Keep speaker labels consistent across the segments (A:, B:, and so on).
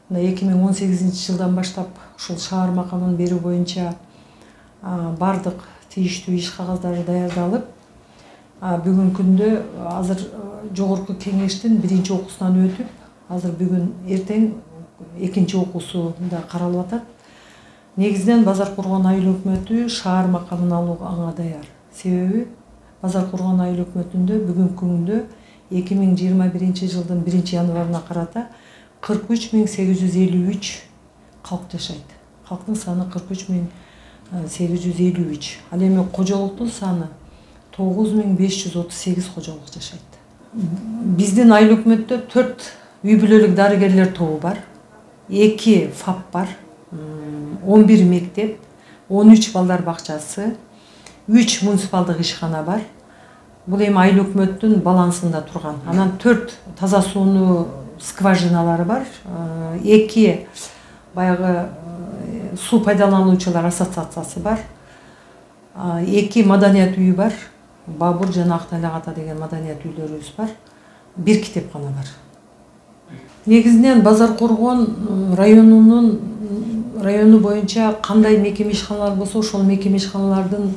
A: 2018 жылдан баштап ушул шаар макамын берүү боюнча бардык тийиштүү иш кагаздары даярдалып, бүгүнкү күндө азыр жогорку кеңештин биринчи окуусунан өтүп, азыр бүгүн эртең экинчи окуусунда каралып атат. Негизинен Базаркургон айыл өкмөтү шаар макамын алууга аңа даяр. Себеби Базаркургон айыл өкмөтүндө бүгүнкү күндө 2021 жылдын 1-январына карата 43.853 калк жашайт. Калктын саны 43.853. Ал эми кожолуктун саны 9.538 кожолук жашайт. Биздин айыл өкмөттө 4 үй бүлөлүк дарыгерлер тобу бар, 2 ФАП бар, 11 мектеп, 13 балдар бакчасы, 3 муниципалдык ишкана бар. Бул эми айыл өкмөттүн балансында турган. Анан 4 таза сууну скважиналары бар, 2 баягы суу пайдалануучулар ассоциациясы бар, 2 маданият үйү бар, Бабур жана Актайлак ата деген маданият үйлөрүбүз бар, 1 китепкана бар. Негизинен Базаркургон району боюнча кандай мекеме ишканалар болсо, ошол мекеме ишканалардын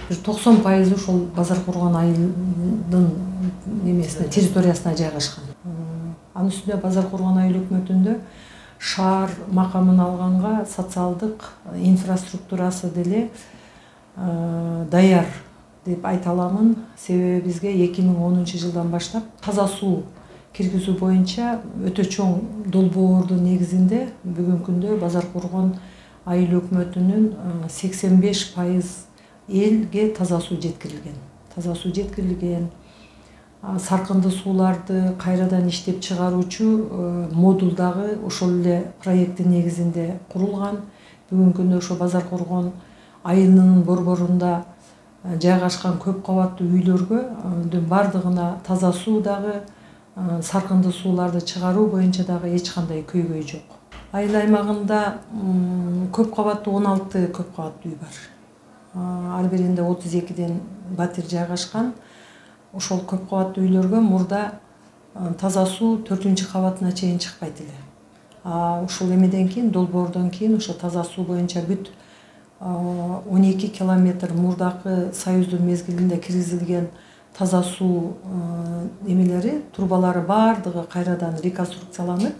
A: 90% ошол Базаркургон айылдын немесине, территориясына жайгашкан. Анын үстүнө Базаркургон айыл өкмөтүндө шаар макамын алганга социалдык инфраструктурасы деле даяр деп айта аламын. Себеби бизге 2010 жылдан баштап таза суу киргизүү боюнча өтө чоң долбоордун негизинде бүгүнкү күндө Базаркургон айыл өкмөтүнүн 85% элге таза суу жеткирилген. Таза суу жеткирилген. Саркынды сууларды кайрадан иштеп чыгаруучу модуль дагы ошол эле проекттин негизинде курулган. Бүгүнкү күндө ошо Базаркургон айылынын борборунда жайгашкан көп кабаттуу үйлөргө бардыгына таза суу дагы, саркынды сууларды чыгаруу боюнча дагы эч кандай көйгөй жок. Айыл аймагында көп кабаттуу 16 көп кабаттуу үй бар. Ар биринде 32ден батир жайгашкан. Ошол көп кабаттуу үйлөргө мурда таза суу 4-кабатына чейин чыкпайт эле. Ушул эмеден кийин, долбоордон кийин ошо таза суу боюнча бүт 12 километр мурдакы Союздун мезгилинде киргизилген таза суу эмелери, трубалары бардыгы кайрадан реконструкцияланып,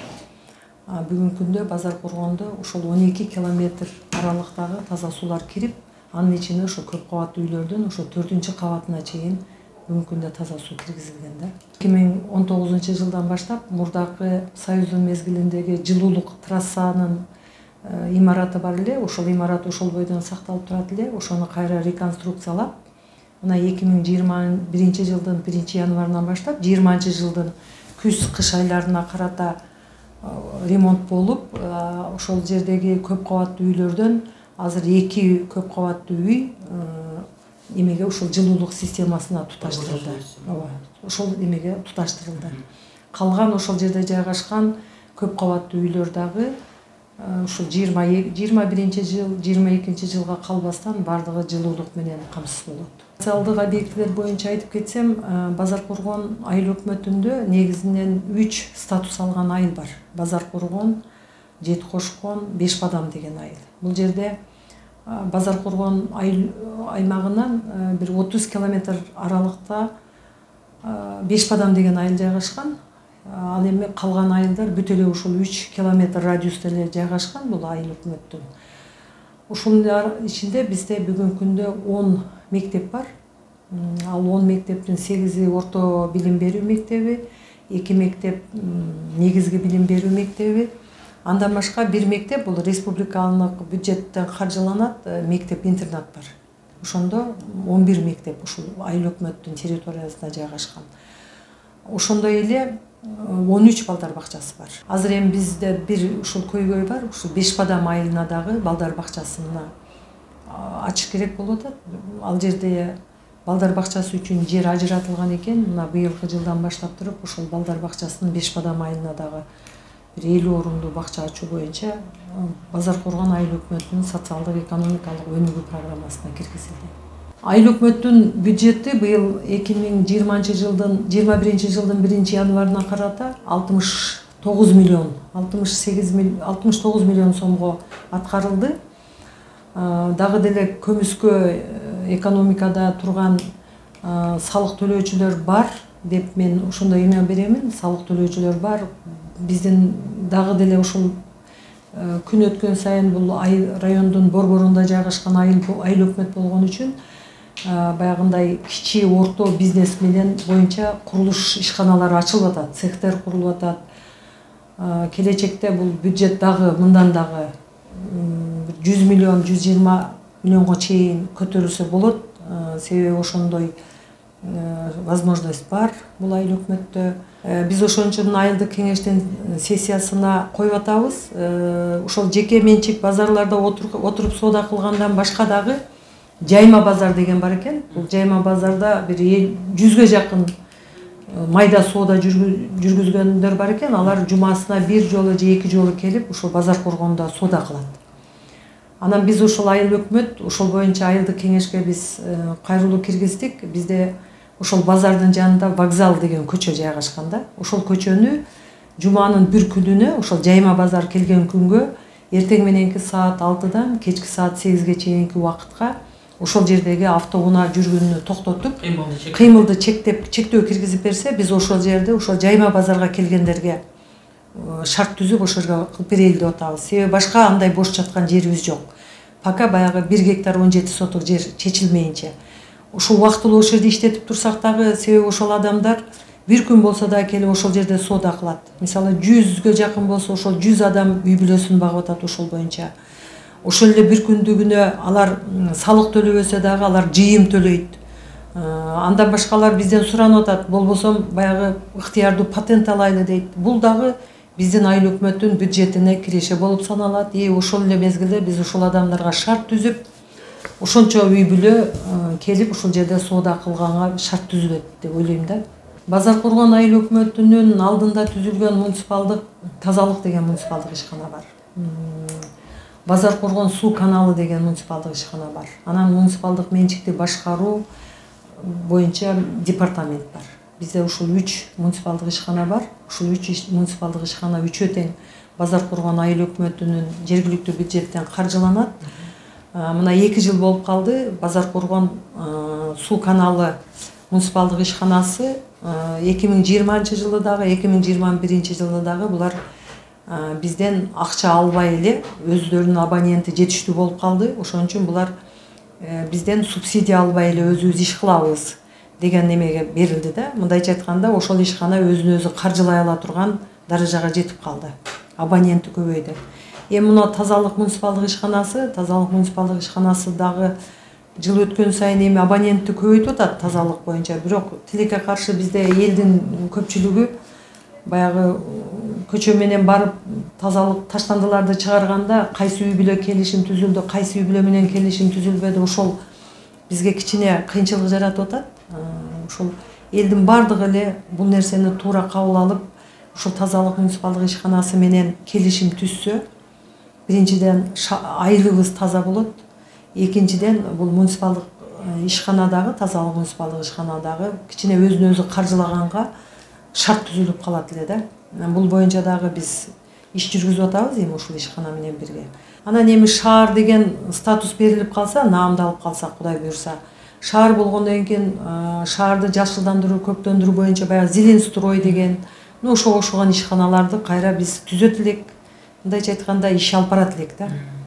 A: бүгүнкү күндө Базаркургондо ошол 12 километр аралыктагы таза суулар кирип, анын ичине ошо көп кабаттуу үйлөрдүн ошо 4-кабатына чейин бүгүнкү күндө таза суу киргизилген да. 2019 жылдан баштап мурдакы Союздун мезгилиндеги жылуулук трассанын имараты бар эле, ошол имарат ошол бойдон сакталып турат эле, ошону кайра реконструкциялап, мына 2021 жылдын 1-январынан баштап 20 жылдын күз-кыш айларына карата ремонт болуп, ошол жердеги көп кабаттуу үйлөрдөн азыр 2 көп кабаттуу үй эмеге ошол жылуулук системасына туташтырылды. Ошол эмеге туташтырылды. Калган ошол жерде жайгашкан көп кабаттуу үйлөр дагы ушул 21 жыл, 22 жылга калбастан бардыгы жылуулук менен камсыз болот. Социалдык объектилер боюнча айтып кетсем, Базаркургон айыл өкмөтүндө негизинен 3 статус алган айыл бар. Базаркургон, Жеткошкон, Бешбадам деген айыл. Бул жерде Базаркургон айыл аймагынан бир 30 километр аралыкта Бешбадам деген айыл жайгашкан. Ал эми калган айылдар бүт эле ушул 3 километр радиуста эле жайгашкан бул айыл өкмөттүн. Ушунун ичинде бизде бүгүнкү күндө 10 мектеп бар. Ал 10 мектептин 8 орто билим берүү мектеби, 2 мектеп негизги билим берүү мектеби. Андан башка 1 мектеп бул республикалык бюджеттен каржыланат, мектеп-интернат бар. Ошондо 11 мектеп ушул айыл өкмөттүн территориясында жайгашкан. Ошондой эле 13 балдар бакчасы бар. Азыр эми бизде бир ушул көйгөй бар, ушул Бешбадам айылына дагы балдар бакчасына ачыш керек болуп атат. Ал жерде балдар бакчасы үчүн жер ажыратылган экен. Мына быйылкы жылдан баштап туруп ошол балдар бакчасынын Бешбадам айылына дагы бир 50 орундуу бакча ачуу боюнча Базаркургон айыл өкмөтүнүн социалдык экономикалык өнүгүү программасына киргизилди. Айыл өкмөттүн бюджети быйыл 2021 жылдын 1-январына карата 69 миллион сомго аткарылды. Дагы деле көмүскө экономикада турган салык төлөөчүлөр бар деп мен ошондой эме беремин. Салык төлөөчүлөр бар. Биздин дагы деле ушул күн өткөн сайын бул райондун борборунда жайгашкан айыл өкмөт болгон үчүн баягындай кичи орто бизнес менен боюнча курулуш ишканалары ачылып атат, цехтер курулуп атат. Келечекте бул бюджет дагы мындан дагы 100 миллион, 120 миллионго чейин көтөрүлсө болот. Себеби ошондой возможность бар бул айыл өкмөттө. Биз ошон үчүн айылдык кеңештин сессиясына коюп атабыз. Ошол жеке менчик базарларда отуруп соода кылгандан башка дагы жайма базар деген бар экен. Бул жайма базарда бир 100ге жакын майда соода жүргүзгөндөр бар экен. Алар жумасына бир жолу же эки жолу келип ошол базар коргондо соода кылат. Анан биз ошол айыл өкмөт ошол боюнча айылдык кеңешке биз кайрылуу киргиздик. Бизде ошол базардын жанында вокзал деген көчө жайгашкан да. Ошол көчөнү жуманын бир күнүнө ошол жайма базар келген күнгө эртең мененки саат 6-дан кечки саат 8-ге чейинки убакытка ошол жердеги автоунаа жүргөнүнө токтотуп, кыймылды чектөө киргизип берсе, биз ошол жерде ошол жайма базарга келгендерге шарт түзүп ошол жерге кылып берели деп атабыз. Себеби башка андай бош жаткан жерибиз жок. Пока баягы 1 гектар 17 соток жер чечилмейинче. Ушул убактылуу ошол жерде иштетип турсак дагы, себеби ошол адамдар бир күн болсо да келип ошол жерде соода кылат. Мисалы 100ге жакын болсо ошол 100 адам үй бүлөсүн багып атат ошол боюнча. Ошол эле бир күндүгүнө алар салык төлөбөсө дагы алар жыйым төлөйт. Андан башкалар бизден суранып атат, болбосо баягы ыктыярдуу патент алайлы дейт. Бул дагы биздин айыл өкмөттүн бюджетине киреше болуп саналат. Ошол эле мезгилде биз ошол адамдарга шарт түзүп, ошончо үй бүлө келип ушул жерде соода кылганга шарт түзүлөт деп ойлойм да. Базар коргон айыл өкмөтүнүн алдында түзүлгөн муниципалдык тазалык деген муниципалдык ишкана бар. Базар коргон суу каналы деген муниципалдык ишкана бар. Анан муниципалдык менчикти башкаруу боюнча департамент бар. Бизде ушул 3 муниципалдык ишкана бар. Ушул 3 муниципалдык ишкана үчөө тең базар коргон айыл өкмөтүнүн жергиликтүү бюджеттен каржыланат. Мына 2 жыл болуп калды. Базар коргон суу каналы муниципалдык ишканасы 2020-жылы дагы, 2021-жылы дагы булар бизден акча албай эле өздөрүнүн абоненти жетиштүү болуп калды. Ошон үчүн булар бизден субсидия албай эле өзүбүз иш кылабыз деген немеге берилди да. Мындайча айтканда ошол ишкана өзүн өзү каржылай ала турган даражага жетип калды. Абоненти көбөйдү. Мына тазалык муниципалдык ишканасы дагы жыл өткөн сайын абонентти көбөйтүп атат тазалык боюнча. Бирок тилекке каршы бизде элдин көпчүлүгү баягы көчө менен барып тазалык таштандыларды чыгарганда кайсы үй бүлө келишим түзүлдү, кайсы үй бүлө менен келишим түзүлбөдү, ошол бизге кичине кыйынчылык жаратып атат. Ошол элдин бардыгы эле бул нерсени туура кабыл алып, ушул тазалык муниципалдык ишканасы менен келишим түзсө, биринчиден айылыбыз таза болот, экинчиден бул муниципалдык ишканадагы, тазалык муниципалдык ишканадагы кичине өзүн өзү каржылаганга шарт түзүлүп калат эле да. Бул боюнча дагы биз иш жүргүзүп атабыз ушул ишкана менен бирге. Анан шаар деген статус берилип калса, наамдалып калса, Кудай буйрса, шаар болгондон кийин шаарды жашылдандыруу, көктөндүрүү боюнча баягы зелень строй деген, ошого окшогон ишканаларды кайра биз түзөт элек. Мындайча айтканда иш алып барат элек да.